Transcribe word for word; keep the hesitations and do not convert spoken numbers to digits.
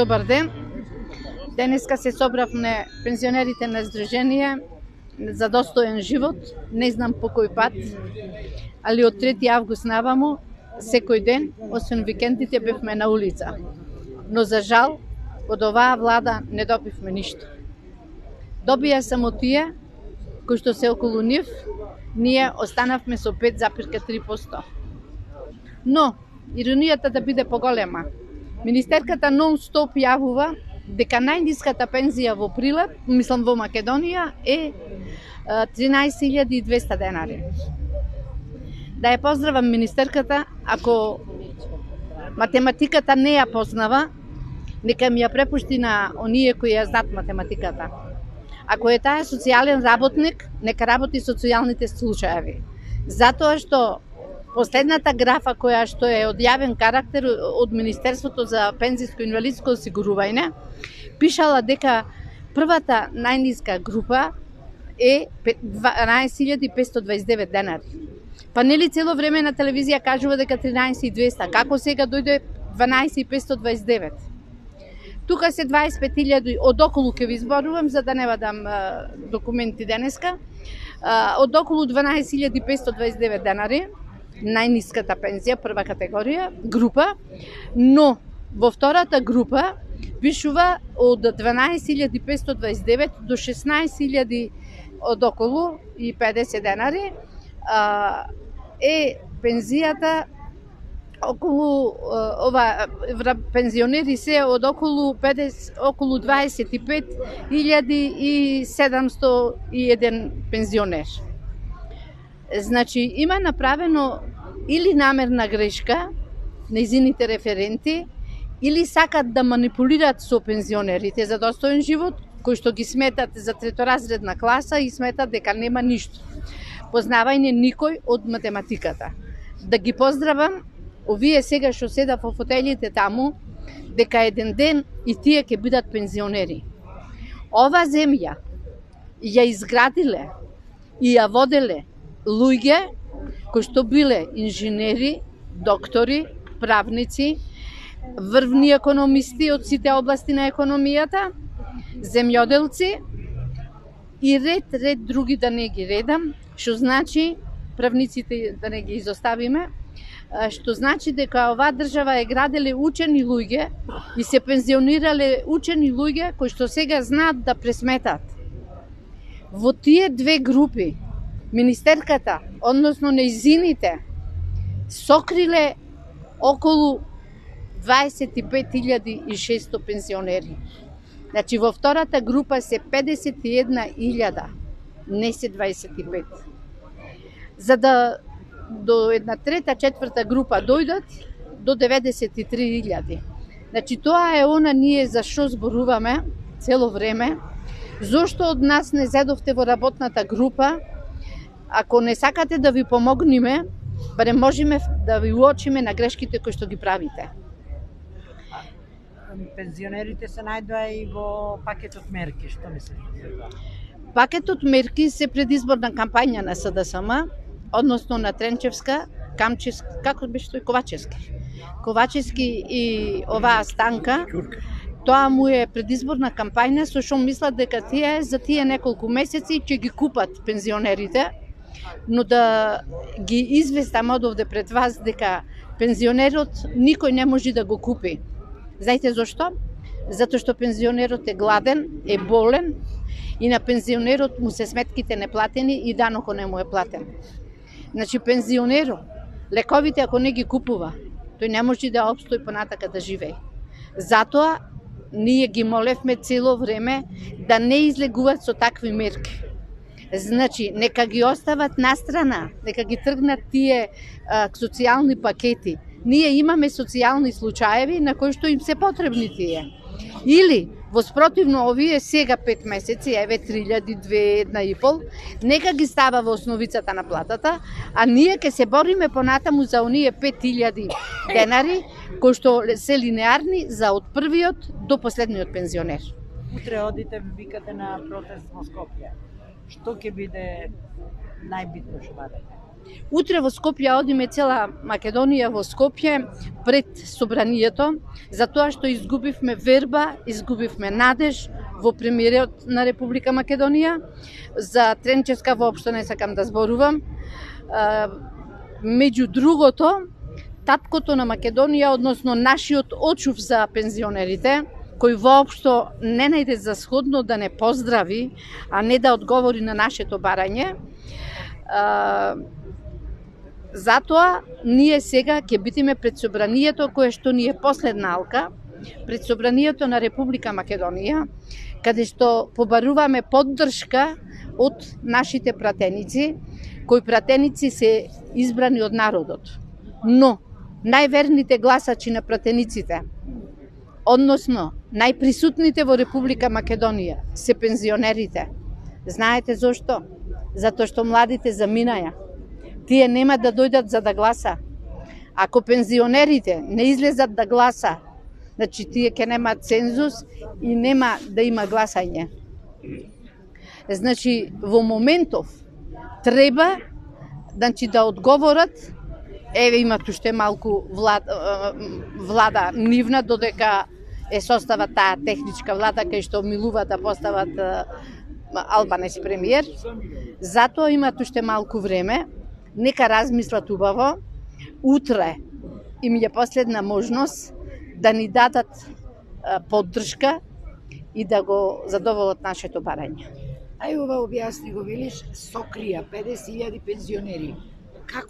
Добар ден. Денеска се собравме пензионерите на Сдружение за достоен живот. Не знам по кој пат, али од трети август наваму, секој ден, освен викендите, бевме на улица. Но за жал, од оваа влада не добивме ништо. Добија само тие кои што се околу нив, ние останавме со пет запирка три проценти. Но, иронијата да биде поголема. Министерката нон-стоп јавува дека најниската пензија во Прилеп, мислам во Македонија, е тринаесет илјади и двесте денари. Да ја поздравам министерката, ако математиката не ја познава, нека ми ја препушти на оние кои ја знаат математиката. Ако е таа социјален работник, нека работи социјалните случаеви. Затоа што последната графа која што е од јавен карактер од Министерството за пензиско и инвалидско осигурување, пишала дека првата најниска група е дванаесет илјади петстотини дваесет и девет денари. Па нели цело време на телевизија кажува дека тринаесет и двесте, како сега дојде дванаесет илјади петстотини дваесет и девет? Тука се дваесет и пет илјади, од околу ќе ви зборувам, за да не вадам а, документи денеска, а, од околу дванаесет илјади петстотини дваесет и девет денари, најниската пензија, прва категорија, група, но во втората група пишува од дванаесет илјади петстотини дваесет и девет до шеснаесет илјади од околу и педесет денари, а, е пензијата околу ова пензионери се од околу педесет околу дваесет и пет илјади и седумстотини и еден пензионер. Значи има направено или намерна грешка нејзините референти, или сакат да манипулираат со пензионерите за достоен живот, кои што ги сметат за треторазредна класа и сметат дека нема ништо. Познавајне никој од математиката. Да ги поздравам овие сега што седат во фотелите таму, дека еден ден и тие ќе бидат пензионери. Ова земја ја изградиле и ја воделе луѓе кои што биле инженери, доктори, правници, врвни економисти од сите области на економијата, земјоделци и ред, ред други да не ги редам, што значи, правниците да не ги изоставиме, што значи дека оваа држава е граделе учени луѓе и се пензионирале учени луѓе кои што сега знаат да пресметат. Во тие две групи, министерката, односно нејзините, сокриле околу дваесет и пет илјади и шестстотини пензионери. Значи, во втората група се педесет и една илјада, не се дваесет и пет. За да до една трета, четврта група дојдат до деветдесет и три илјади. Значи, тоа е она ние за што зборуваме цело време. Зошто од нас не зедовте во работната група? Ако не сакате да ви помогнеме, барем можеме да ви уочиме на грешките кои што ги правите. Пензионерите се најдоа и во пакетот мерки, што мислите? Пакетот мерки се предизборна кампања на С Д С М, односно на Тренчевска, Камчевска, како беше тој Ковачевски. Ковачевски и оваа станка, тоа му е предизборна кампања со што мислат дека тие за тие неколку месеци ќе ги купат пензионерите, но да ги известам од овде пред вас дека пензионерот никој не може да го купи. Знаете зошто? Затоа што пензионерот е гладен, е болен и на пензионерот му се сметките неплатени и данокот не му е платен. Значи пензионерот, лековите ако не ги купува, тој не може да опстои понатака да живее. Затоа ние ги молевме цело време да не излегуваат со такви мерки. Значи, нека ги остават настрана, нека ги тргнат тие а, социјални пакети. Ние имаме социјални случаеви на кои што им се потребни тие. Или, во спротивно, овие сега пет месеци, еве три илјади, две, една и пол, нека ги става во основицата на платата, а ние ќе се бориме понатаму за оние пет илјади денари, кои што се линеарни за од првиот до последниот пензионер. Утре одите, викате на протест во Скопје. Што ќе биде најбитно што барате? Утре во Скопје одиме цела Македонија во Скопје пред собранието, затоа што изгубивме верба, изгубивме надеж во премиерот на Република Македонија. За Тренчевска воопшто не сакам да зборувам. Меѓу другото, таткото на Македонија, односно нашиот очув за пензионерите, кој воопшто не најде за сходно да не поздрави, а не да одговори на нашето барање. Затоа ние сега ќе бидеме пред собранието кое што ни е последна алка, пред собранието на Република Македонија, каде што побаруваме поддршка од нашите пратеници, кои пратеници се избрани од народот. Но најверните гласачи на пратениците, односно најприсутните во Република Македонија, се пензионерите. Знаете зошто? Затоа што младите заминаја. Тие нема да дојдат за да гласа. Ако пензионерите не излезат да гласа, значи тие ќе немаат цензус и нема да има гласање. Значи во моментов треба значи да одговорат. Еве имат уште малку влада, влада нивна, додека е состава таа техничка влада кај што милува да постават Албанец премиер. Затоа имат уште малку време. Нека размислат убаво. Утре им е последна можност да ни дадат поддршка и да го задоволат нашето барање. Ај ова објасни го, велиш, сокрија педесет илјади пензионери. Како